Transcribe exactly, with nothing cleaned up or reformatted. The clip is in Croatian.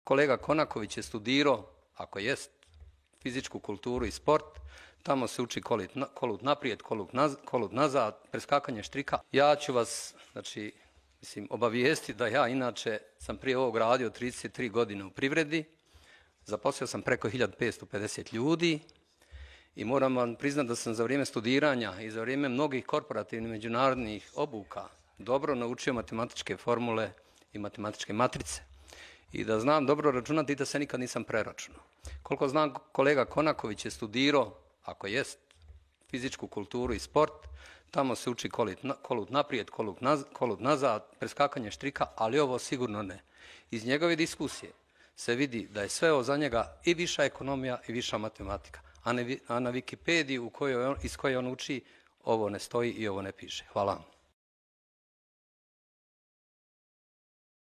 kolega Konaković je studirao, ako jest, fizičku kulturu i sport, tamo se uči kolut naprijed, kolut nazad, preskakanje štrika. Ja ću vas, znači, mislim, obavijesti da ja inače sam prije ovog radio trideset tri godine u privredi, zaposlio sam preko hiljadu petsto pedeset ljudi i moram vam priznati da sam za vrijeme studiranja i za vrijeme mnogih korporativnih međunarodnih obuka dobro naučio matematičke formule i matematičke matrice i da znam dobro računati i da se nikad nisam preračunao. Koliko znam, kolega Konaković je studirao, ako jest, fizičku kulturu i sport, tamo se uči kolut naprijed, kolut nazad, preskakanje štrika, ali ovo sigurno ne. Iz njegove diskusije se vidi da je sve ovo za njega i viša ekonomija i viša matematika, a na Wikipediji iz koje on uči ovo ne stoji i ovo ne piše. Hvala vam.